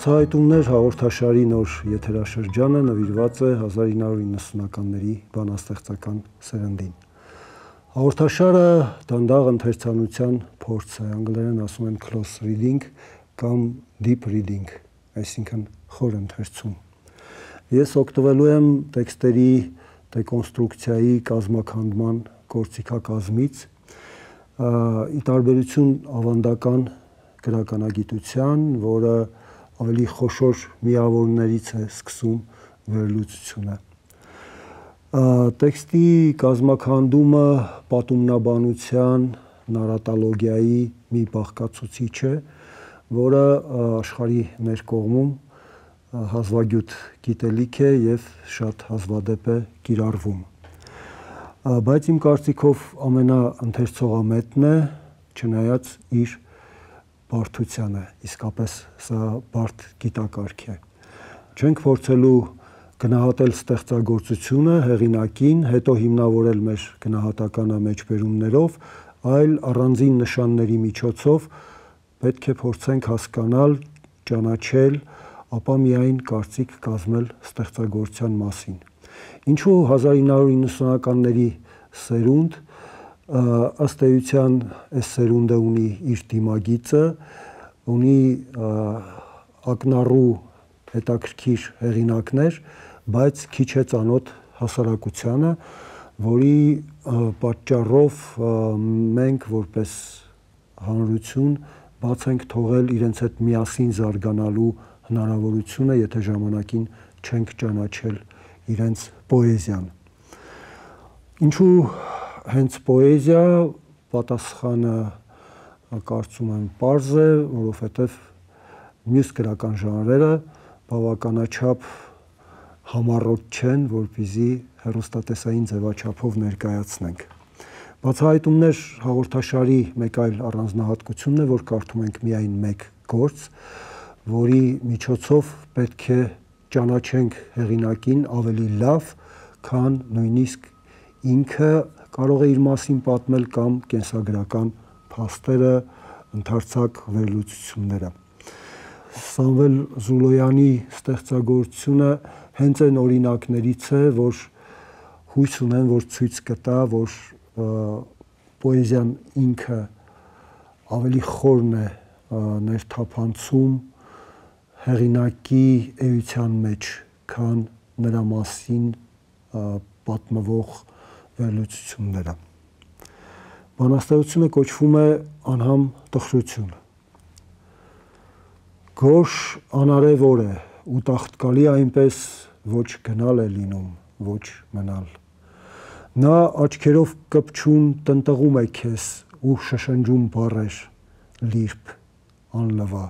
Բացահայտումներ հաղորդաշարի նոր եթերաշրջանը նվիրված է 1990-ականների բանաստեղծական սերնդին։ Հաղորդաշարը դանդաղ ընթերցանության փորձ է, անգլերեն ասում են close reading կամ deep reading, այսինքն խոր ընթերցում։ Ես օգտվելու եմ տեքստերի դեկոնստրուկցիայի կազմաքանդման գործիքակազմից, ի տարբերություն ավանդական գրականագիտության, որը ավելի խոշոր միավորներից է սկսում վերլուծությունը։ Տեքստի կազմաքանդումը պատումնաբանության, նարատոլոգիայի մի բաղկացուցիչ է, որը աշխարհի մեր կողմում հազվագյուտ գիտելիք է եւ շատ հազվադեպ է կիրառվում։ Բայց իմ կարծիքով ամենաընթերցողամետն է, չնայած իր բարդությանը, իսկապես սա բարդ գիտակարգ է։ Չենք փորձելու գնահատել ստեղծագործությունը, հեղինակին, հետո հիմնավորել մեր գնահատականը մեջբերումներով, այլ առանձին նշանների միջոցով պետք է փորձենք հասկանալ, ճանաչել, ապա միայն կարծիք կազմել ստեղծագործության մասին։ Ինչու 1990-ականների սերունդ, ըստ էության այս սերունդը ունի իր դիմագիծը, ունի ակնառու հետաքրքիր հեղինակներ, բայց քիչ է ծանոթ հասարակությանը, որի պատճառով մենք որպես հանրություն բաց ենք թողել իրենց հետ միասին զարգանալու հնարավորությունը, եթե ժամանակին չենք ճանաչել իրենց պոեզիան։ Ինչու հենց պոեզիա, պատասխանը կարծում եմ պարզ է, որովհետև մյուս գրական ժանրերը բավականաչափ համառոտ չեն, որպեսզի հեռուստատեսային ձևաչափով ներկայացնենք։ Բացահայտումներ հաղորդաշարի մեկ այլ առանձնահատկությունն է, որ կարդում ենք միայն մեկ գործ, որի միջոցով պետք է ճանաչենք հեղինակին ավելի լավ, քան նույնիսկ ինքը կարող է իր մասին պատմել կամ կենսագրական փաստերը, ընդարձակ վերլուծությունները։ Սամվել Զուլոյանի ստեղծագործությունը հենց այն օրինակներից է, որ հույս ունեմ, որ ցույց կտա, որ պոեզիան ինքը ավելի խորն է ներթափանցում հեղինակի էության մեջ, քան նրա մասին պատմվող վերլուծությունները։ Բանաստեղծությունը կոչվում է անհամ տխրություն։ Գորշ անարև օր է ու տաղտկալի այնպես ոչ գնալ է լինում, ոչ մնալ։ Նա աչքերով կպչուն տնտղում է քեզ ու շշնջում բառեր, լիրբ, անլվա։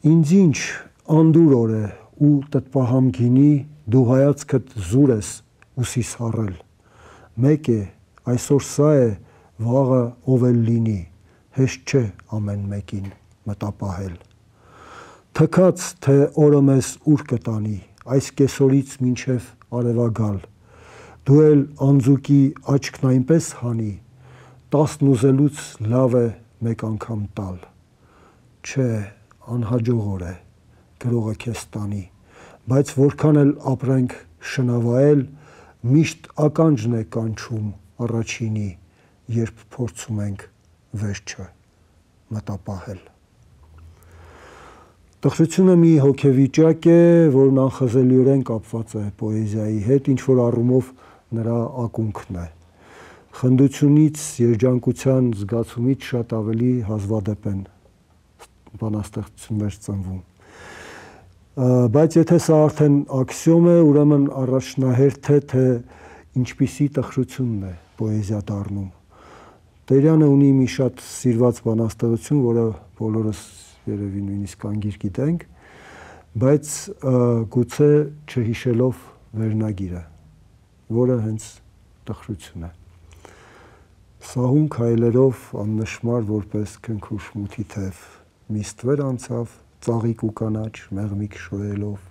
Ինձ ինչ անդուր օր է ու տտպահամ գինի, դու հայացքդ զուր ես ուսիս հառել։ Մեկ է, այսօր սա է, վաղը ով էլ լինի, հեշտ չէ ամեն մեկին մտապահել։ Թքած, թե օրը մեզ ուր կտանի, այս կեսօրից մինչև արևագալ, դու էլ անձուկի աչքն այնպես հանի, 10 ուզելուց լավ է մեկ անգամ տալ։ Չէ, անհաջող օր է, գրողը քեզ տանի, բայց որքան էլ ապրենք շնավայել, միշտ ականջն է կանչում առաջինի, երբ փորձում ենք վերջը մտապահել։ Տխրությունը մի հոգեվիճակ է, որն անխզելիորեն կապված է պոեզիայի հետ, ինչ որ առումով նրա ակունքն է։ Խնդությունից, երջանկության զգացումից շատ ավելի հազվադեպ են բանաստեղծություններ ծնվում։ Բայց եթե սա արդեն աքսիոմ է, ուրեմն առաջնահերթ է, թե ինչպիսի տխրությունն է պոեզիա դառնում։ Տերյանը ունի մի շատ սիրված բանաստեղծություն, որը բոլորս երևի նույնիսկ անգիր գիտենք, բայց գուցե չհիշելով վերնագիրը, որը հենց տխրություն է։ Սահուն քայլերով աննշմար որպես քնքուշ մութի թև, մի ստվեր անցավ, ծաղիկ ու կանաչ մեղմիկ շոյելով։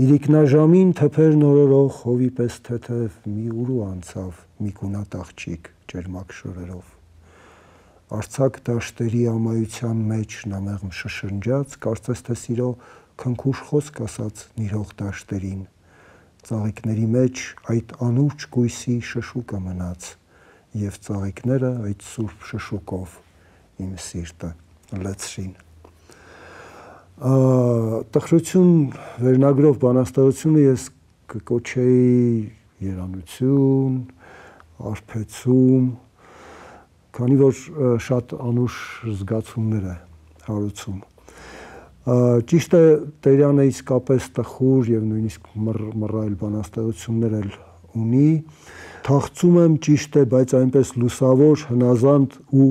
Իրիկնաժամին թփեր նորորող հովի պես թեթև մի ուրու անցավ մի գունատ աղջիկ ջերմակ շորերով։ Արցակ դաշտերի ամայության մեջ նա մեղմ շշնջաց, կարծես թե սիրո քնքուշ խոսք ասաց նիրհող դաշտերին, ծաղիկների մեջ այդ անուրջ գույսի շշուկը մնաց, և ծաղիկները այդ սուրբ շշուկով իմ սիրտը լցրին։ Տխրություն վերնագրով բանաստեղծությունը ես կկոչեի երանություն, արբեցում, քանի որ շատ անուշ զգացումներ է հարուցում։ Ճիշտ է, Տերյանը իսկապես տխուր և նույնիսկ մռայլ բանաստեղծություններ էլ ունի։ Թախծում եմ, ճիշտ է, բայց այնպես լուսավոր, հնազանդ ու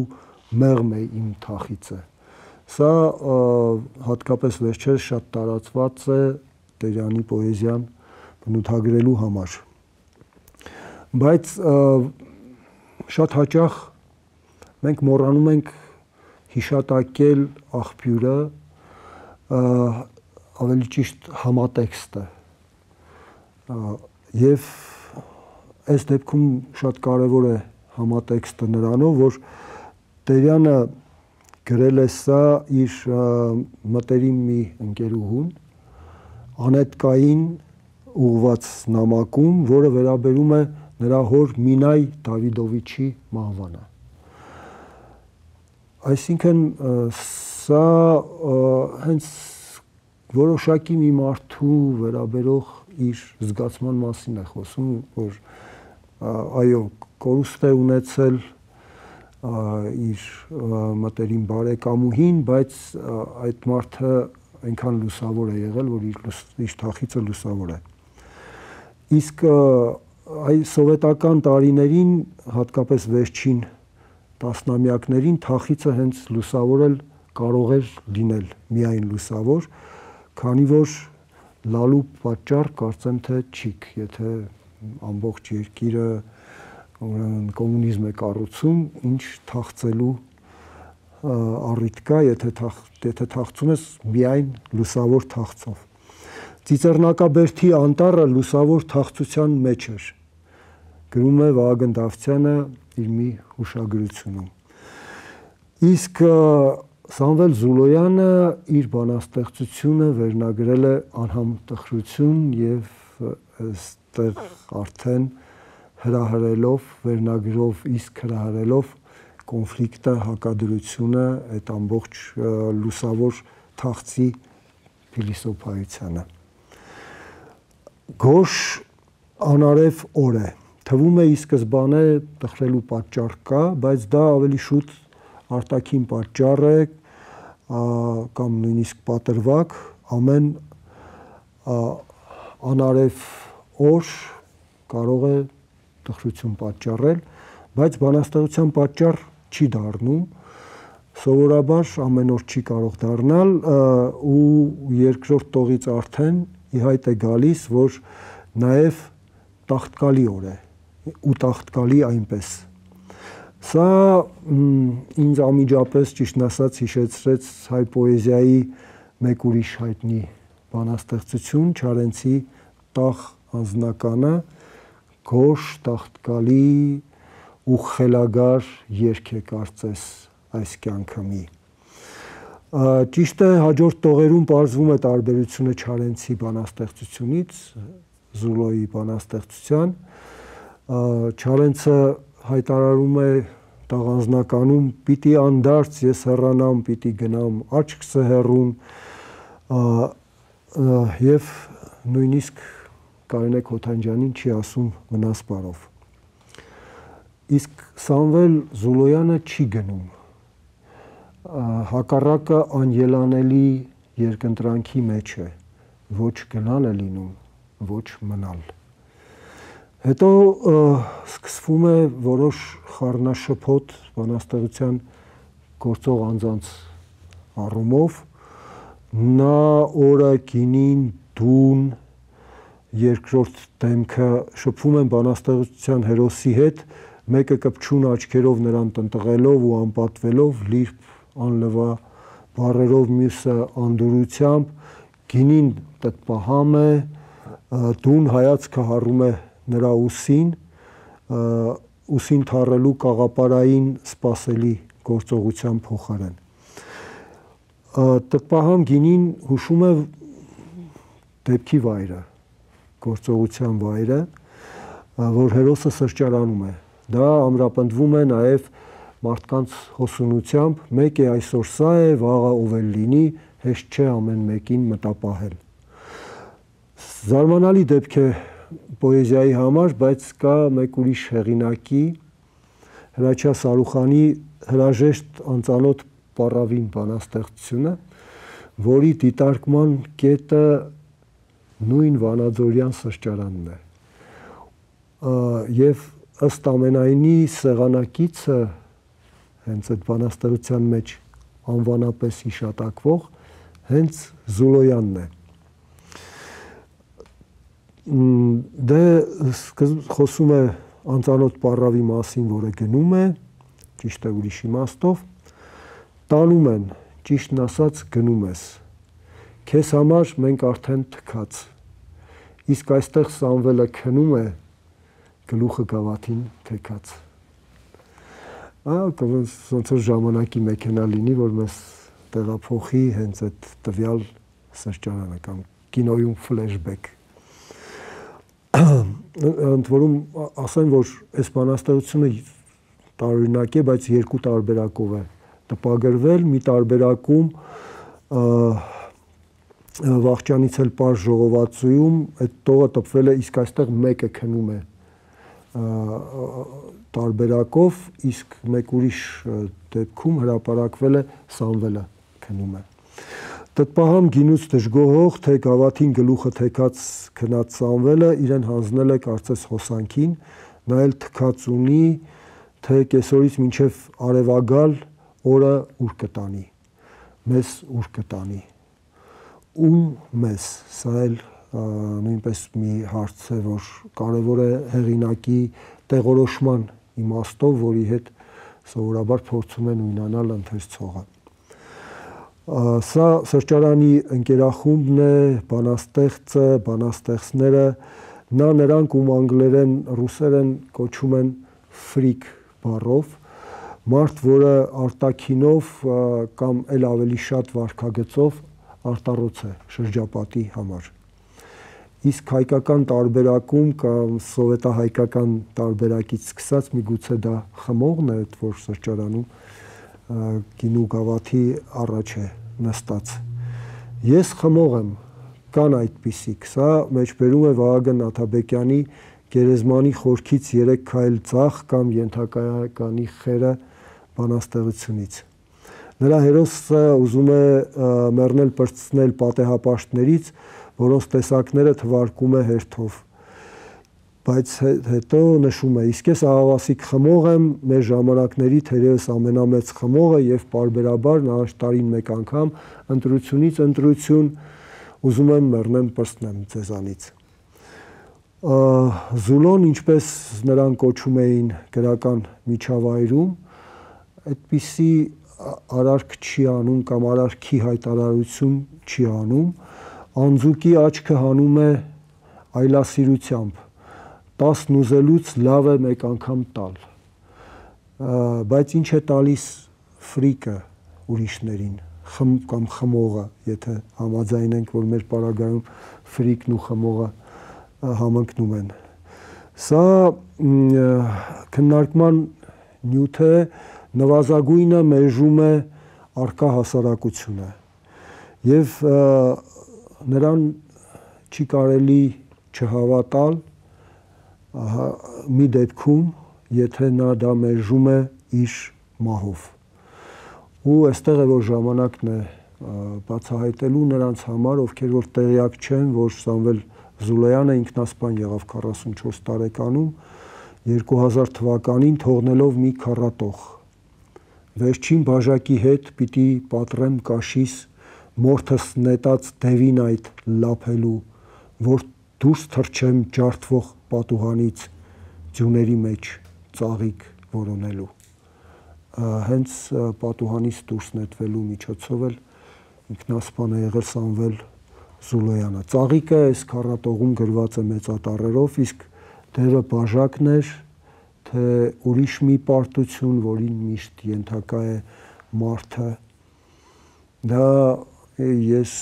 մեղմ է իմ թախիծը։ Սա հատկապես վերջերս շատ տարածված է Տերյանի պոեզիան բնութագրելու համար։ Բայց շատ հաճախ մենք մոռանում ենք հիշատակել աղբյուրը, ավելի ճիշտ համատեքստը, և այս դեպքում շատ կարևոր է համատեքստը նրանով, որ Տերյանը գրել է սա իր մտերիմ մի ընկերուհուն, Անետկային ուղղված նամակում, որը վերաբերում է նրա հոր Մինայ Դավիդովիչի մահվանը։ Այսինքն սա հենց որոշակի մի մարդու վերաբերող իր զգացման մասին է խոսում, որ այո, կորուստ է ունեցել իր մտերիմ բարեկամուհին, բայց այդ մարդը այնքան լուսավոր է եղել, որ իր թախիծը լուսավոր է։ Իսկ այ սովետական տարիներին, հատկապես վերջին տասնամյակներին, թախիծը հենց լուսավորել կարող էր լինել միայն լուսավոր, քանի որ լալու պատճառ կարծեմ թե չիք, եթե ամբողջ երկիրը կոմունիզմ է կառուցում, ինչ թախծելու առիթ կա, եթե թախծում ես միայն լուսավոր թախծով։ Ծիծեռնակաբերդի անտառը լուսավոր թախծության մեջ էր, գրում է Վահագն Դավթյանը իր մի հուշագրությունում։ Իսկ Սամվել Զուլոյանը իր բանաստեղծությունը վերնագրել է «Անհամտխրություն» և այստեղ արդեն հրահրելով, վերնագրով իսկ հրահրելով կոնֆլիկտը, հակադրությունը, այդ ամբողջ լուսավոր թախծի փիլիսոփայությանը։ Գորշ անարև օր է, թվում է ի սկզբանե տխրելու պատճառ կա, բայց դա ավելի շուտ արտաքին պատճառ է կամ նույնիսկ պատրվակ, ամեն անարև օր կարող է տխրություն պատճառել, բայց բանաստեղծության պատճառ չի դառնում, սովորաբար ամեն օր չի կարող դառնալ ու երկրորդ տողից արդեն ի հայտ է գալիս, որ նաև տաղտկալի օր է ու տաղտկալի այնպես։ Սա ինձ անմիջապես, ճիշտն ասած, հիշեցրեց հայ պոեզիայի մեկ ուրիշ հայտնի բանաստեղծություն, Չարենցի «Տաղ» անձնականը, գորշ, տաղտկալի ու խելագար երգ է կարծես այս կյանքը մի։ Ճիշտ է, հաջորդ տողերում պարզվում է տարբերությունը Չարենցի բանաստեղծությունից Զուլոյի բանաստեղծության։ Չարենցը հայտարարում է «Տաղ» անձնականում. «Պիտի անդարձ ես հեռանամ, պիտի գնամ աչքս հեռուն», և նույնիսկ Կարինե Քոթանջյանին չի ասում մնաս բարով։ Իսկ Սամվել Զուլոյանը չի գնում, հակառակը անելանելի երկընտրանքի մեջ է, ոչ գնալ է լինում, ոչ մնալ։ Հետո սկսվում է որոշ խառնաշփոթ բանաստեղծության գործող անձանց առումով, նա օրը, գինին, դուն, երկրորդ դեմքը շփվում են բանաստեղծության հերոսի հետ, մեկը կպչուն աչքերով նրան տնտղելով ու անպատվելով, լիրբ անլվա բառերով, մյուսը անդորրությամբ, գինին տտպահամ է, դուն հայացքը հառում է նրա ուսին թառելու կաղապարային սպասելի գործողության փոխարեն։ Տպահամ գինին հուշում է դեպքի վայրը, գործողության վայրը, որ հերոսը սրճարանում է։ Դա ամրապնդվում է նաև մարդկանց հոսունությամբ, մեկ է այսօր սա է, վաղը ով էլ լինի, հեշտ չէ ամեն մեկին մտապահել։ Զարմանալի դեպք է պոեզիայի համար, բայց կա մեկ ուրիշ հեղինակի, Հրաչյա Սարուխանի հրաժեշտ անծանոթ պառավին բանաստեղծությունը, որի դիտարկման կետը նույն վանաձորյան սրճարանն է։ Եվ ըստ ամենայնի սեղանակիցը հենց այդ բանաստեղծության մեջ անվանապես հիշատակվող հենց Զուլոյանն է։ Դե խոսում է անծանոթ պառավի մասին, որը գնում է, ճիշտ է ուրիշ իմաստով, տանում են, ճիշտն ասած գնում ես, քեզ համար մենք արդեն թքած, իսկ այստեղ Սամվելը քնում է, գլուխը գավաթին թեքած։ Ոնց որ ժամանակի մեքենա լինի, որ մեզ տեղափոխի հենց այդ տվյալ սրճարանը կամ կինոյում ֆլեշբեք։ Ընդ որում ասեմ, որ այս բանաստեղծությունը տարօրինակ է, բայց երկու տարբերակով է տպագրվել, մի տարբերակում Վախճանից էլ պարզ ժողովածուում այդ տողը տպվել է, իսկ այստեղ մեկը քնում է տարբերակով, իսկ մեկ ուրիշ դեպքում հրապարակվել է Սամվելը քնում է։ Տպահամ գինուց դժգոհող, թե գավաթին գլուխը թեքած քնած Սամվելը իրեն հանձնել է կարծես հոսանքին, նա էլ թքած ունի, թե կեսօրից մինչև արևագալ օրը ուր կտանի, մեզ ուր կտանի, ում մեզ, սա էլ նույնպես մի հարց է, որ կարևոր է հեղինակի տեղորոշման իմաստով, որի հետ սովորաբար փորձում է նույնանալ ընթերցողը։ Սա սրճարանի ընկերախումբն է, բանաստեղծը, բանաստեղծները, նա նրանք, ում անգլերեն, ռուսերեն կոչում են ֆրիկ բառով, մարդ, որը արտաքինով կամ էլ ավելի շատ վարքագծով արտառոց է շրջապատի համար։ Իսկ հայկական տարբերակում կամ սովետահայկական տարբերակից սկսած միգուցե դա խմողն է, որ սրճարանում գինու գավաթի առաջ է նստած։ Ես խմող եմ, կան այդպիսիք, սա մեջբերում է Վահագն Աթաբեկյանի Գերեզմանի խորքից 3 քայլ ձախ կամ ենթակայականի խերը բանաստեղծությունից։ Նրա հերոսը ուզում է մեռնել պրծնել պատեհապաշտներից, որոնց տեսակները թվարկում է հերթով, բայց հետո նշում է, իսկ ես ահավասիկ խմող եմ, մեր ժամանակների թերևս ամենամեծ խմողը եւ պարբերաբար նահաշ տարին մեկ անգամ ընտրությունից ընտրություն ուզում եմ մեռնեմ պրծնեմ ձեզանից։ Զուլոն, ինչպես նրան կոչում էին գրական միջավայրում, այդպիսի արարք չի անում կամ արարքի հայտարարություն չի անում, անձուկի աչքը հանում է այլասիրությամբ, 10 ուզելուց լավ է մեկ անգամ տալ, բայց ինչ է տալիս ֆրիկը ուրիշներին, կամ խմողը, եթե համաձայնենք, որ մեր պարագայում ֆրիկն ու խմողը համընկնում են։ Սա քննարկման նյութ է, նվազագույնը մերժում է առկա հասարակությունը եւ նրան չի կարելի չհավատալ մի դեպքում, եթե նա դա մերժում է իր մահով։ Ու այստեղ է, որ ժամանակն է բացահայտելու նրանց համար, ովքեր որ տեղյակ չեն, որ Սամվել Զուլոյանը ինքնասպան եղավ 44 տարեկանում, 2000 թվականին թողնելով մի քառատող։ Վերջին բաժակի հետ պիտի պատռեմ կաշիս, մորթս նետած դևին այդ լափելու, որ դուրս թռչեմ ջարդվող պատուհանից, ձյուների մեջ ծաղիկ որոնելու։ Հենց պատուհանից դուրս նետվելու միջոցով էլ ինքնասպան է եղել Սամվել Զուլոյանը։ Ծաղիկը այս քառատողում գրված է մեծատառերով, իսկ դևը բաժակն էր, թե ուրիշ մի պարտություն, որին միշտ ենթակա է մարդը, դա ես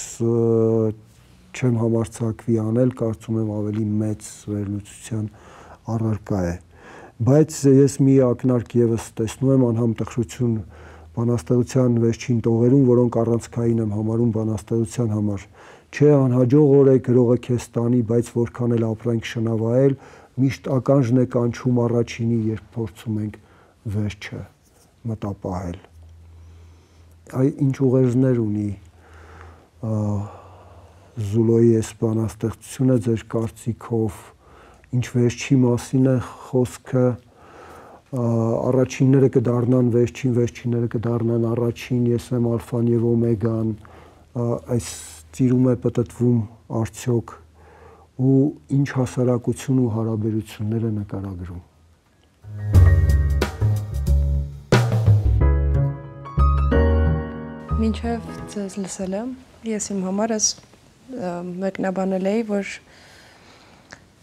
չեմ համարձակվի անել, կարծում եմ ավելի մեծ վերլուծության առարկա է, բայց ես մի ակնարկ եւս տեսնում եմ անհամտխրություն բանաստեղծության վերջին տողերում, որոնք առանցքային եմ համարում բանաստեղծության համար, չէ անհաջող օր է գրողը քեզ տանի, բայց որքան էլ ապրանք շնավայել, միշտ ականջն է կանչում առաջինի, երբ փորձում ենք վերջը մտապահել։ Այ ինչ ուղերձներ ունի Զուլոյի այս բանաստեղծությունը ձեր կարծիքով, ինչ վերջի մասին է խոսքը, առաջինները կդառնան վերջին, վերջինները կդառնան առաջին, ես եմ ալֆան եւ օմեգան, այս ծիրում է պտտվում արդյոք ու ինչ հասարակություն ու հարաբերություններ է նկարագրում։ Մինչև ձեզ լսել եմ, ես իմ համար ես մեկնաբանել էի, որ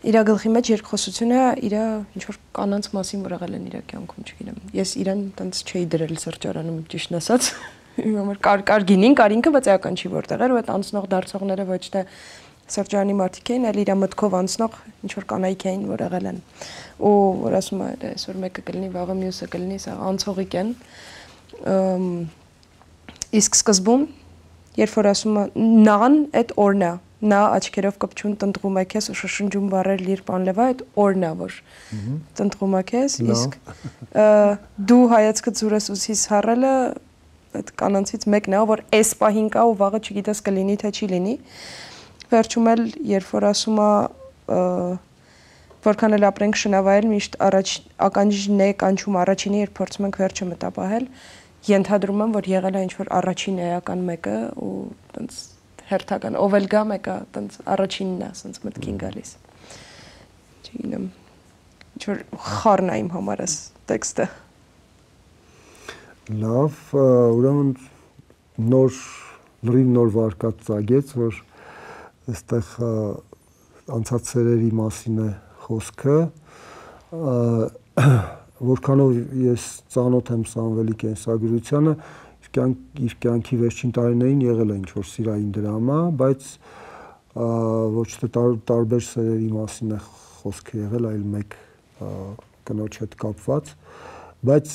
իրա գլխի մեջ երկխոսությունը իրա ինչ-որ կանանց մասին որ եղել են իրա կյանքում, չգիտեմ, ես իրան տենց չէի դրել սրճարանում, ճիշտն ասած, իմ համար կար գինին, կար ինքը, բայց էական չի որտեղ էր, ու այդ անցնող դարձողները ոչ թե սրճարանի մարդիկ էին, այլ իրա մտքով անցնող ինչ-որ կանայք էին, որ եղել են, ու որ ասում է, այսօր մեկը կլինի, վաղը մյուսը կլինի, սա անցողիկ են, իսկ սկզբում, երբ որ ասում է նան, այդ օրն է, նա աչքերով կպչուն տնտղում է քեզ ու շշնջում բառեր լիր պանլևա, այդ օրն է, որ տնտղում է քեզ, իսկ դու հայացքդ զուրես ուսիս հառելը, այդ կանանցից մեկն է, որ այս պահին կա ու վաղը չգիտես կլինի, թե չի լինի, վերջում էլ, երբ որ ասում է, որքան էլ ապրենք շնավայել, միշտ ականջն է կանչում առաջինի, երբ փորձում ենք վերջը մտապահել, ենթադրում եմ, որ եղել է ինչ-որ առաջին էական մեկը ու տենց հերթական, ով էլ գա մեկը տենց առաջինն է, սենց մտքին գալիս։ Չգիտեմ, ինչ-որ խառն է իմ համար այս տեքստը։ Լավ, ուրեմն լրիվ նոր վարկած ծագեց, որ այստեղ անցած սերերի մասին է խոսքը, որքանով ես ծանոթ եմ Սամվելի կենսագրությանը, իր կյանքի վերջին տարիներին եղել է ինչ-որ սիրային դրամա, բայց ոչ թե տարբեր սերերի մասին է խոսքը եղել, այլ մեկ կնոջ հետ կապված, բայց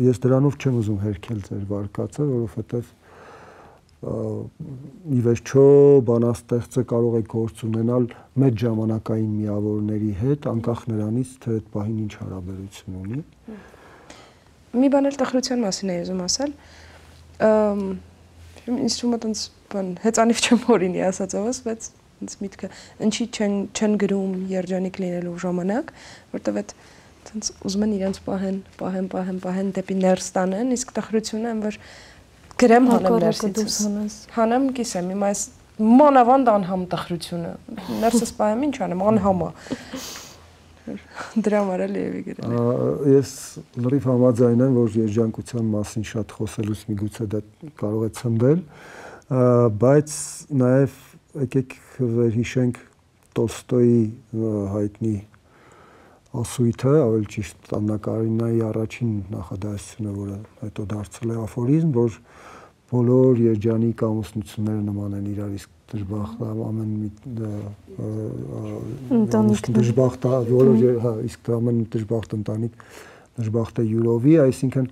ես դրանով չեմ ուզում հերքել ձեր վարկածը, որովհետև ի վերջո բանաստեղծը կարող է գործ ունենալ մեծ ժամանակային միավորների հետ, անկախ նրանից, թե այդ պահին ինչ հարաբերություն ունի։ Մի բան էլ տխրության մասին է ուզում ասել, ինձ թվում է տենց հեծանիվ չեմ հորինի ասածովս, բայց ինձ միտքը ինչի չեն գրում երջանիկ լինելու ժամանակ, որտեվ այդ տենց ուզում են իրենց պահեն դեպի ներս տանեն, իսկ տխրությունը որ գրեմ հանեմ ներսից հանեմ կիսեմ, հիմա այս մանավանդ անհամ տխրությունը, ներսս պահեմ ինչ անեմ, անհամա դրա համար էլ եւի գրել է։ Ես լրիվ համաձայն եմ, որ երջանկության մասին շատ խոսելուց միգուցե դա կարող է ցնդել, բայց նաեւ եկեք վերհիշենք Տոլստոյի հայտնի ասույթը, ավելի ճիշտ Աննա Կարինայի առաջին նախադասությունը, որը հետո դարձել է աֆորիզմ, որ բոլոր երջանիկ ամուսնությունները նման են իրար, իսկ դժբախտ ամեն դժբախտ իսկ ամեն դժբախտ ընտանիք դժբախտ է յուրովի, այսինքն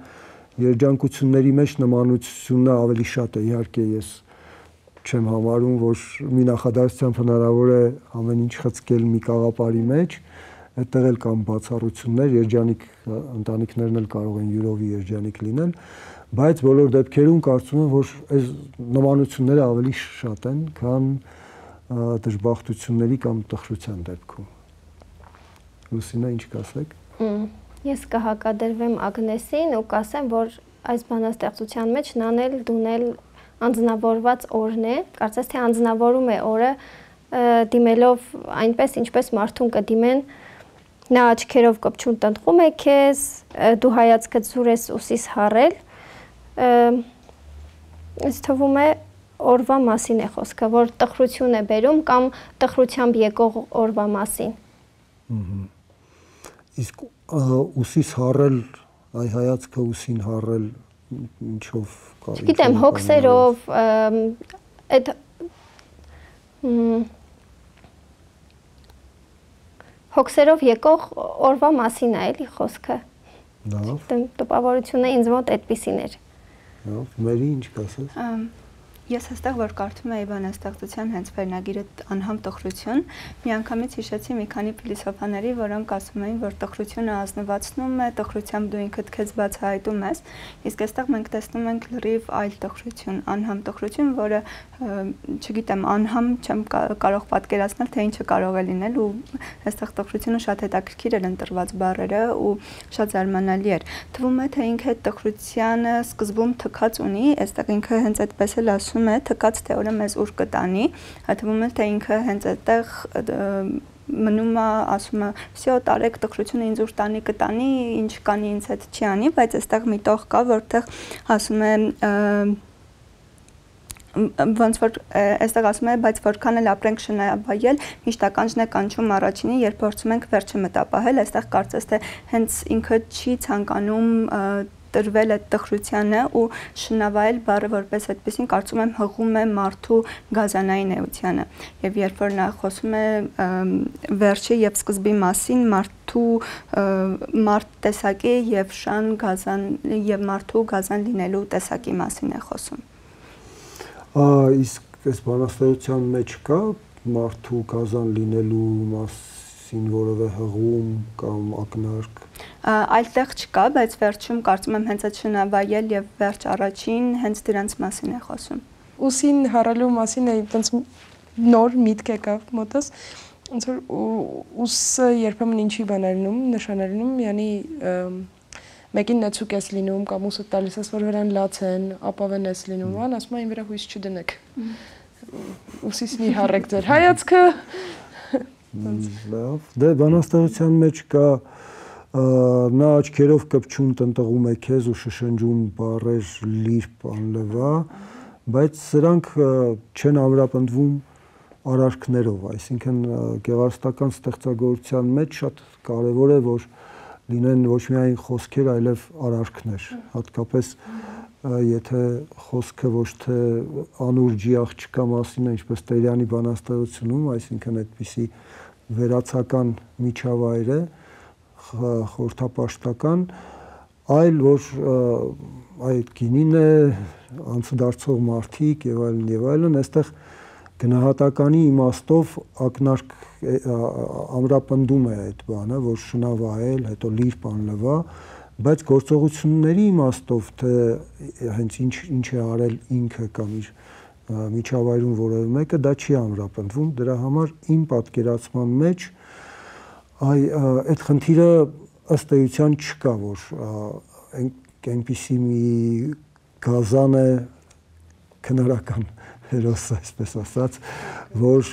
երջանկությունների մեջ նմանությունը ավելի շատ է, իհարկե ես չեմ համարում, որ մի նախադասությամբ հնարավոր է ամեն ինչ խցկել մի կաղապարի մեջ, այդտեղ էլ կան բացառություններ, երջանիկ ընտանիքներն էլ կարող են յուրովի երջանիկ լինել, բայց բոլոր դեպքերում կարծում եմ, որ այս նմանությունները ավելի շատ են, քան դժբախտությունների կամ տխրության դեպքում։ Լուսինա, ինչ կասեք։ Ես կհակադրվեմ Ագնեսին ու կասեմ, որ այս բանաստեղծության մեջ նանել դունել անձնավորված օրն է, կարծես թե անձնավորում է օրը դիմելով այնպես, ինչպես մարդուն կդիմեն, նա աչքերով կպչուն տնտղում է քեզ, դու հայացքդ զուր ես ուսիս հառել, ինձ թվում է օրվա մասին է խոսքը, որ տխրություն է բերում կամ տխրությամբ եկող օրվա մասին։ իսկ ուսիս հառել, այ հայացքը ուսին հառել ինչով կա։ Գիտեմ, հոգսերով, այդ հոգսերով եկող օրվա մասին է էլի խոսքը։ Լավ։ Տպավորությունը ինձ մոտ այդպիսին էր։ Լավ, Մերի ինչ կասես։ Ես հստակ որ կարդում էի բանաստեղծության հենց վերնագիրը անհամ տխրություն, միանգամից հիշեցի մի քանի փիլիսոփաների, որոնք ասում էին, որ տխրությունը ազնվացնում է, տխրությամբ դու ինքդ քեզ բացահայտում ես, իսկ այստեղ մենք տեսնում ենք լրիվ այլ տխրություն, անհամ տխրություն, որը չգիտեմ, անհամ չեմ կարող պատկերացնել, թե ինչը կարող է լինել ու այստեղ տխրությունը շատ հետաքրքիր էր ընտրված բառերը ու շատ զարմանալի էր։ Թվում է, թե ինքը տխրությանը սկզբում թքած ունի, այստեղ ինքը հենց այդպես էլ ասում է, թքած թեորը մեզ ուր կտանի, թվում է, թե ինքը հենց այդտեղ մնում է, ասում է, «Всё, տարեք տխրությունը ինձ ուր տանի կտանի, ինչ կանի ինձ հետ չի անի», բայց այստեղ մի տող կա, որտեղ ասում է ոնց որ այստեղ ասում է, բայց որքան էլ ապրենք շնայաբայել, միշտ ականջն է կանչում առաջինի, երբ փորձում ենք վերջը մտապահել, այստեղ կարծես թե հենց ինքը չի ցանկանում տրվել այդ տխրությանը ու շնավայել բառը որպես այդպեսին կարծում եմ հղում է մարդու գազանային էությանը եւ երբ որ նա խոսում է վերջի եւ սկզբի մասին մարդու մարդ տեսակի եւ շան գազան եւ մարդու գազան լինելու տեսակի մասին է խոսում։ Իսկ այս բանաստեղծության մեջ կա մարդու գազան լինելու մասին որևէ հղում կամ ակնարկ։ Այլտեղ չկա, բայց վերջում կարծում եմ հենց այդ շնավայել եւ վերջ առաջին հենց դրանց մասին է խոսում։ Ուսին հառելու մասին է այտենց նոր միտք եկավ մոտս, ոնց որ ուսը երբեմն ինչի բան է լինում, նշան է լինում, yani մեկին նեցուկ ես լինում կամ ուսը տալիս ես որ վրան լացեն, ապավեն ես լինում, ան ասում են վրա հույս չդնեք։ Ուսից մի հառեք ձեր հայացքը։ Լավ, դե բանաստեղծության մեջ կա նա աչքերով կպչուն տնտղում է քեզ ու շշնջում բառեր լիրբ անլվա, բայց սրանք չեն ամրապնդվում արարքներով, այսինքն գեղարվեստական ստեղծագործության մեջ շատ կարևոր է որ լինեն ոչ միայն խոսքեր, այլև արարքներ, հատկապես եթե խոսքը ոչ թե անուրջի աղջկա մասին է, ինչպես Տերյանի բանաստեղծությունում, այսինքն այդպիսի վերացական միջավայր է, խորհրդապաշտական, այլ որ այդ գինին է, անցուդարձող մարդիկ եւ այլն, այստեղ գնահատականի իմաստով ակնարկ ամրապնդում է այդ բանը, որ շնավայել, հետո լիրբ անլվա, բայց գործողությունների իմաստով, թե հենց ինչ է արել ինքը կամ իր միջավայրում որևէ մեկը, դա չի ամրապնդվում, դրա համար իմ պատկերացման մեջ այդ խնդիրը ըստ էության չկա, որ այնպիսի մի գազան է քնարական հերոսը, այսպես ասած, որ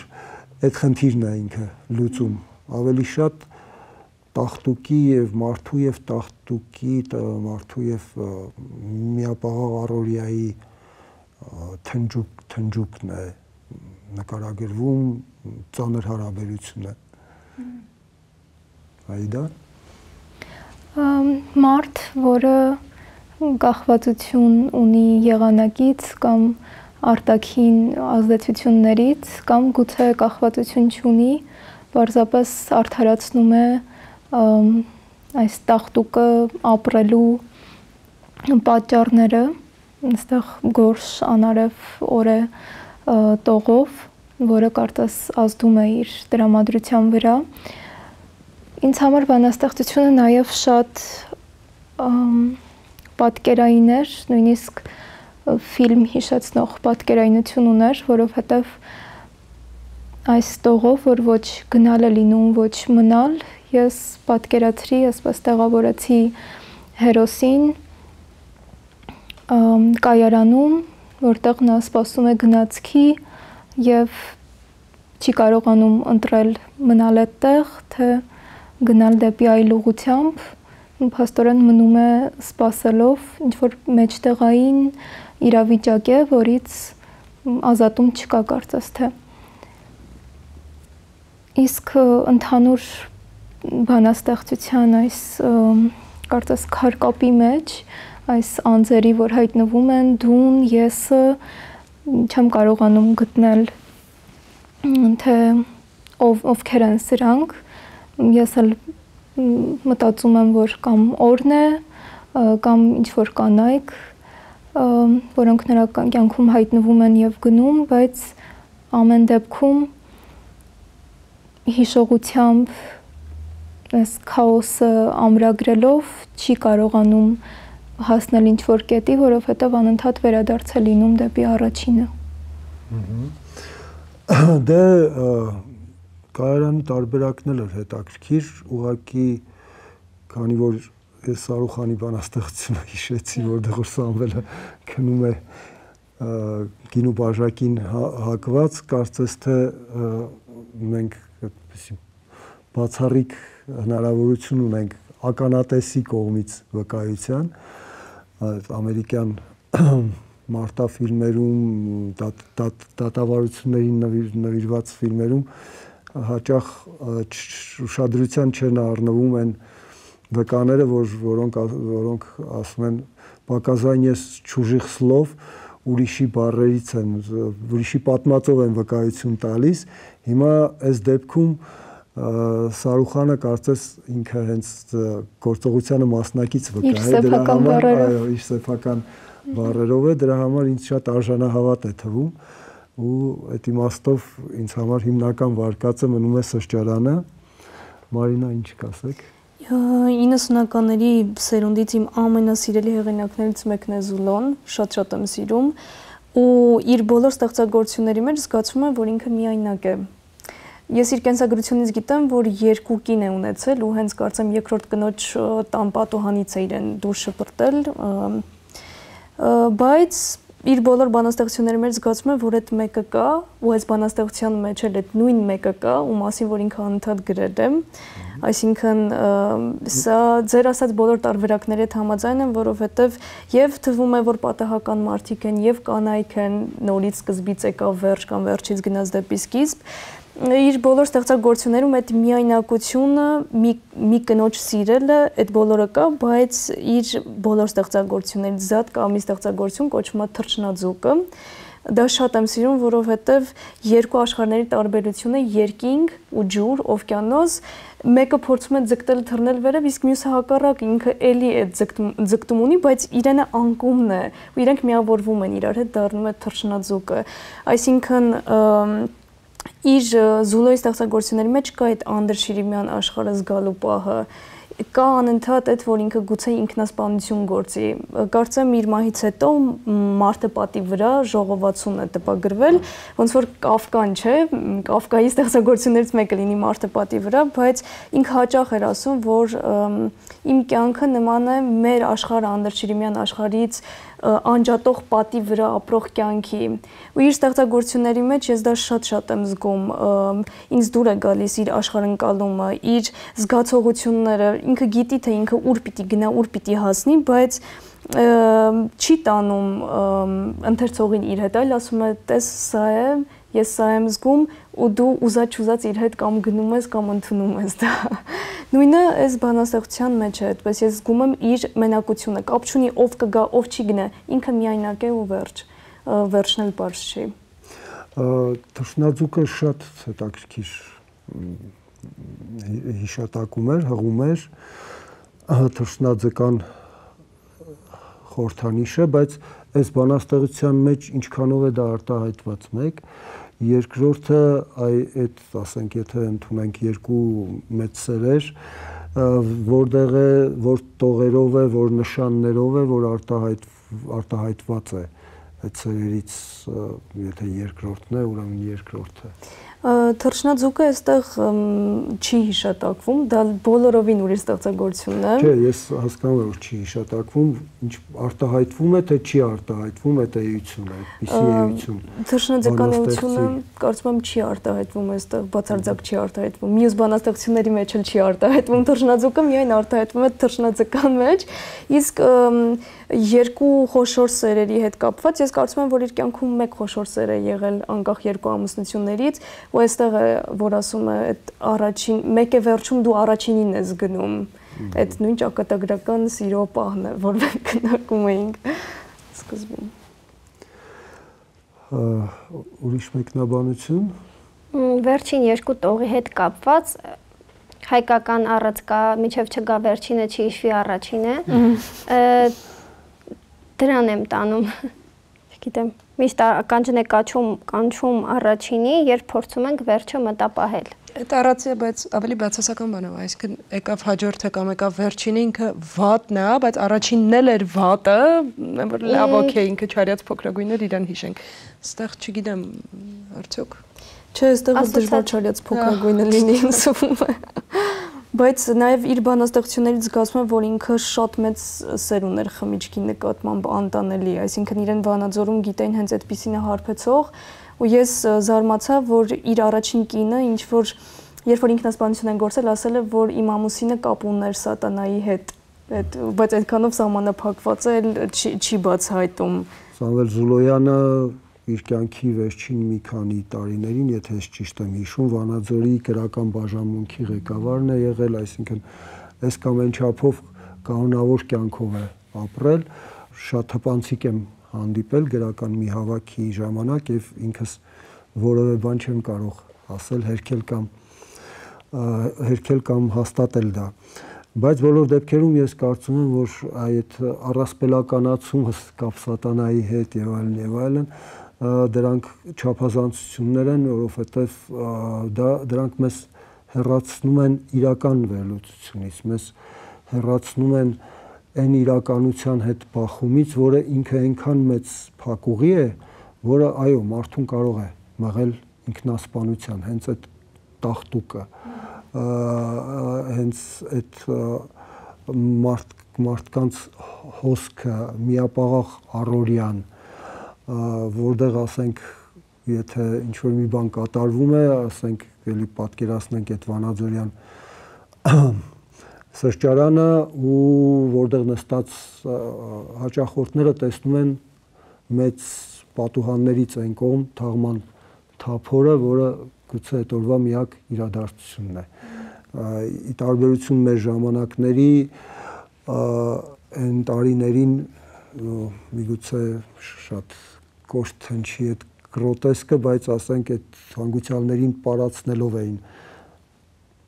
այդ խնդիրն է ինքը լուծում, ավելի շատ տախտուկի եւ մարդու եւ տախտուկի, մարդու եւ միապաղաղ առօրյայի թնջուկն է նկարագրվում, ծանր հարաբերություն է։ Այդա մարդ, որը կախվածություն ունի եղանակից կամ արտաքին ազդեցություններից կամ գուցե կախվածություն չունի, պարզապես արդարացնում է այս տախտուկը ապրելու պատճառները, այստեղ գորշ անարև օր է տողով, որը կարծես ազդում է իր տրամադրության վրա։ Ինձ համար բանաստեղծությունը նաև շատ պատկերային էր, նույնիսկ ֆիլմ հիշեցնող պատկերայնություն ուներ, որովհետև այս տողով, որ ոչ գնալ է լինում, ոչ մնալ, ես պատկերացրի, այսպես տեղավորեցի հերոսին կայարանում, որտեղ նա սպասում է գնացքի և չի կարողանում ընտրել մնալ այդտեղ, թե գնալ դեպի այլ ուղղությամբ, փաստորեն մնում է սպասելով, ինչ-որ մեջտեղային իրավիճակ է, որից ազատում չկա կարծես թե։ Իսկ ընդհանուր բանաստեղծության այս կարծես քարկապի մեջ այս անձերի, որ հայտնվում են դուն, եսը չեմ կարողանում գտնել թե ովքեր են սրանք, ես էլ մտածում եմ, որ կամ օրն է, կամ ինչ-որ կանայք, որոնք նրա կյանքում հայտնվում են և գնում, բայց ամեն դեպքում հիշողությամբ այս քաոսը ամրագրելով չի կարողանում հասնել ինչ-որ կետի, որովհետև անընդհատ վերադարձ է լինում դեպի առաջինը։ Դե կայարանի տարբերակն էլ էր հետաքրքիր, ուղղակի քանի որ ես Սարուխանի բանաստեղծությունը հիշեցի, որտեղ որ Սամվելը քնում է գինու բաժակին հակված, կարծես թե մենք այդպիսի բացառիկ հնարավորություն ունենք ականատեսի կողմից վկայության, ամերիկյան մարտաֆիլմերում, դատավարություններին նվիրված ֆիլմերում հաճախ ուշադրության չեն առնվում են վկաները, որոնք ասում են «Показань ես чужих слов», ուրիշի բառերից են, ուրիշի պատմածով են վկայություն տալիս։ Հիմա այս դեպքում Սարուխանը կարծես ինքը հենց գործողությանը մասնակից վկա է, դրա համար իր սեփական բառերով է, դրա համար ինձ շատ արժանահավատ է թվում ու այդ իմաստով ինձ համար հիմնական վարկածը մնում է սրճարանը։ Մարինա, ինչ կասեք։ 90-ականների սերունդից իմ ամենասիրելի հեղինակներից մեկն է Զուլոն, շատ եմ սիրում ու իր բոլոր ստեղծագործությունների մեջ զգացում եմ, որ ինքը միայնակ է։ Ես իր կենսագրությունից գիտեմ, որ 2 կին է ունեցել ու հենց կարծեմ երկրորդ կնոջ տան պատուհանից է իրեն դուրս շպրտել, բայց իր բոլոր բանաստեղծությունների մեջ զգացում եմ, որ այդ մեկը կա ու այս բանաստեղծության մեջ էլ այդ նույն մեկը կա ու մասին, որ ինքը անընդհատ գրել է։ Այսինքն սա ձեր ասած բոլոր տարբերակների հետ համաձայն եմ, որովհետև եւ թվում է, որ պատահական մարդիկ են եւ կանայք են, նորից սկզբից եկավ վերջ կամ վերջից գնաց դեպի սկիզբ։ Իր բոլոր ստեղծագործություններում այդ միայնակությունը, մի կնոջ սիրելը, այդ բոլորը կա, բայց իր բոլոր ստեղծագործություններից զատ կա մի ստեղծագործություն կոչվում է Թռչնաձուկը։ Դա շատ եմ սիրում, որովհետև երկու աշխարհների տարբերությունը երկինք ու ջուր, օվկիանոս, մեկը փորձում է ձգտել թռնել վերև, իսկ մյուսը հակառակ, ինքը էլի է ձգտում ունի, բայց իրենը անկումն է, ու իրենք միավորվում են իրար հետ, դառնում է Թռչնաձուկը։ Այսինքն իր Զուլոյի ստեղծագործությունների մեջ կա այդ անդրշիրիմյան աշխարհը զգալու պահը, կա անընդհատ այդ, որ ինքը գուցե ինքնասպանություն գործի։ Կարծեմ իր մահից հետո մարդը պատի վրա ժողովածուն է տպագրվել, ոնց որ Կաֆկան չէ, Կաֆկայի ստեղծագործություններից մեկը լինի մարդը պատի վրա, բայց ինքը հաճախ էր ասում, որ իմ կյանքը նման է մեր աշխարհը անդրշիրիմյան աշխարհից անջատող պատի վրա ապրող կյանքի։ Ու իր ստեղծագործությունների մեջ ես դա շատ եմ զգում, ինձ դուր է գալիս իր աշխարհընկալումը, իր զգացողությունները, ինքը գիտի, թե ինքը ուր պիտի գնա, ուր պիտի հասնի, բայց չի տանում ընթերցողին իր հետ, այլ ասում է, տես սա է, ես սա եմ զգում ու դու ուզած-չուզած իր հետ կամ գնում ես կամ ընդունում ես դա։ Նույնը այս բանաստեղծության մեջ է, այդպես ես զգում եմ իր մենակությունը, կապ չունի ով կգա, ով չի գնա, ինքը միայնակ է ու վերջ, վերջն էլ պարզ չի։ Թռչնաձուկը շատ հետաքրքիր հիշատակում էր, հղում էր, թռչնաձկան խորհրդանիշ է, բայց այս բանաստեղծության մեջ ինչքանով է դա արտահայտված մեկ, երկրորդը այդ, ասենք, եթե ընդունենք երկու մեծ սերեր, որտեղ է, որ տողերով է, որ նշաններով է, որ արտահայտված է այդ սերերից, եթե երկրորդն է, ուրեմն երկրորդը։ Թռչնաձուկը այստեղ չի հիշատակվում, դա բոլորովին ուրիշ ստեղծագործություն է։ Չէ, ես հասկանում եմ, որ չի հիշատակվում, ինչ արտահայտվում է, թե չի արտահայտվում, այդ էություն է, այդպիսի էություն։ Թռչնաձկան էությունը կարծում եմ չի արտահայտվում այստեղ, բացարձակ չի արտահայտվում։ Մյուս բանաստեղծությունների մեջ էլ չի արտահայտվում, թռչնաձուկը միայն արտահայտվում է թռչնաձկան մեջ, իսկ երկու խոշոր սերերի հետ կապված ես կարծում եմ, որ իր կյանքում մեկ խոշոր սեր է եղել անկախ երկու ամուսնություններից, ու այստեղ է որ ասում է այդ առաջին մեկ է վերջում դու առաջինին ես գնում այդ նույն ճակատագրական սիրո պահն է որ մենք քննարկում էինք սկզբում ուրիշ մեկնաբանություն վերջին երկու տողի հետ կապված հայկական առածկա միջև չգա վերջինը չի հիշվի առաջինը դրան եմ տանում չգիտեմ միշտ ականջն է կանչում առաջինի երբ փորձում ենք վերջը մտապահել այդ առածը բայց ավելի բացասական բան է այսինքն եկավ հաջորդը կամ եկավ վերջինը ինքը վատն է բայց առաջինն էլ էր վատը որ լավ օքեյ ինքը չարյաց փոքրագույններ իրան հիշենք այստեղ չգիտեմ արդյոք չէ այստեղ դժվար չարյաց փոքրագույնը լինի ինձ բայց նաև իր բանաստեղծություններից զգացում է որ ինքը շատ մեծ սեր ուներ խմիչքի նկատմամբ անտանելի այսինքն իրեն վանաձորում գիտեին հենց այդպիսին է հարբեցող ու ես զարմացա որ իր առաջին կինը ինչ որ երբ որ ինքնասպանություն են գործել ասել է որ իմ ամուսինը կապ ուներ սատանայի հետ բայց այդքանով սահմանափակված է չի բացահայտում Սամվել Զուլոյանը իր կյանքի վերջին մի քանի տարիներին, եթե ես ճիշտ եմ հիշում, Վանաձորի գրական բաժանմունքի ղեկավարն է եղել, այսինքն այս կամ այն չափով կանոնավոր կյանքով է ապրել, շատ հպանցիկ եմ հանդիպել գրական մի հավաքի ժամանակ եւ ինքս որևէ բան չեմ կարող ասել, հերքել կամ հաստատել դա։ Բայց բոլոր դեպքերում ես կարծում եմ, որ այդ առասպելականացումը կապ սատանայի հետ եւ այլն դրանք չափազանցություններ են, որովհետև դրանք մեզ հեռացնում են իրական վերլուծությունից, մեզ հեռացնում են այն իրականության հետ բախումից, որը ինքը այնքան մեծ փակուղի է, որը այո, մարդուն կարող է մղել ինքնասպանության, հենց այդ տախտուկը, հենց այդ մարդկանց հոսքը, միապաղաղ առօրյան, որտեղ ասենք, եթե ինչ-որ մի բան կատարվում է, ասենք, էլի պատկերացնենք այդ Վանաձորյան սրճարանը ու որտեղ նստած հաճախորդները տեսնում են մեծ պատուհաններից այն կողմ թաղման թափորը, որը գուցե այդ օրվա միակ իրադարձությունն է։ Ի տարբերություն մեր ժամանակների այն տարիներին միգուցե շատ կոշտ հնչի այդ գրոտեսկը, բայց ասենք այդ հանգուցյալներին պարացնելով էին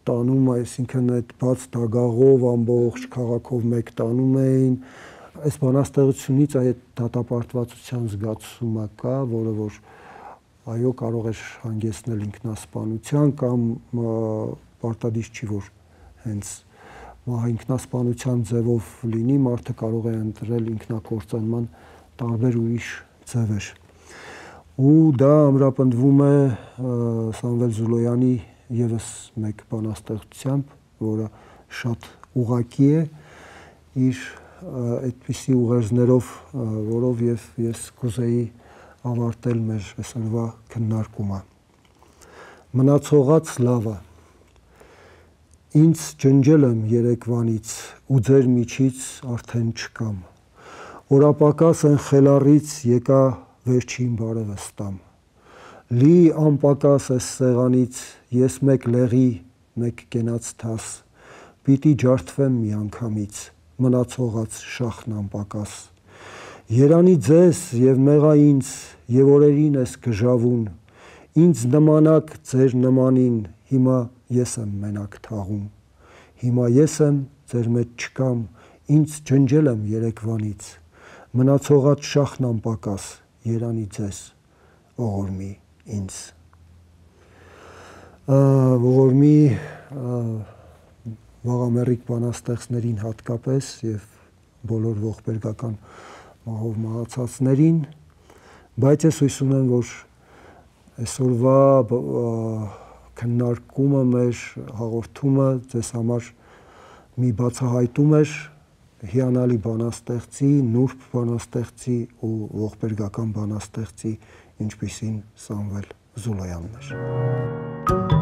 տանում, այսինքն այդ բաց դագաղով ամբողջ քաղաքով մեկ տանում էին։ Այս բանաստեղծությունից այդ դատապարտվածության զգացումը կա, որը որ այո կարող էր հանգեցնել ինքնասպանության կամ պարտադիր չի որ հենց ինքնասպանության ձևով լինի, մարդը կարող է ընտրել ինքնակործանման տարբեր ուրիշ ձևեր։ Ու դա ամրապնդվում է Սամվել Զուլոյանի եւս մեկ բանաստեղծությամբ, որը շատ ուղղակի է իր այդպիսի ուղերձներով, որով ես կուզեի ավարտել մեր այսօրվա քննարկումը։ Մնացողած լավը ինձ ջնջել եմ երեկվանից ու ձեր միջից արդեն չկամ։ Օրապակաս են խելառից եկա վերջին բարևս տամ։ Լի անպակաս ես սեղանից ես մեկ լեղի, մեկ կենաց թաս, պիտի ջարդվեմ միանգամից, մնացողած շախն անպակաս։ Երանի ձեզ և մեղա ինձ և օրերին ես գժավուն, ինձ նմանակ ձեր նմանին, հիմա ես եմ մենակ թաղում։ Հիմա ես եմ, ձեր մեջ չկամ, ինձ ջնջել եմ երեկվանից, մնացողած շախն անպակաս, երանի ձեզ, ողորմի ինձ։ Ողորմի վաղամեռիկ բանաստեղծներին հատկապես և բոլոր ողբերգական մահով մահացածներին, բայց ես հույս ունեմ, որ այսօրվա քննարկումը մեր հաղորդումը ձեզ համար մի բացահայտում էր հիանալի բանաստեղծի, նուրբ բանաստեղծի ու ողբերգական բանաստեղծի, ինչպիսին Սամվել Զուլոյանն էր։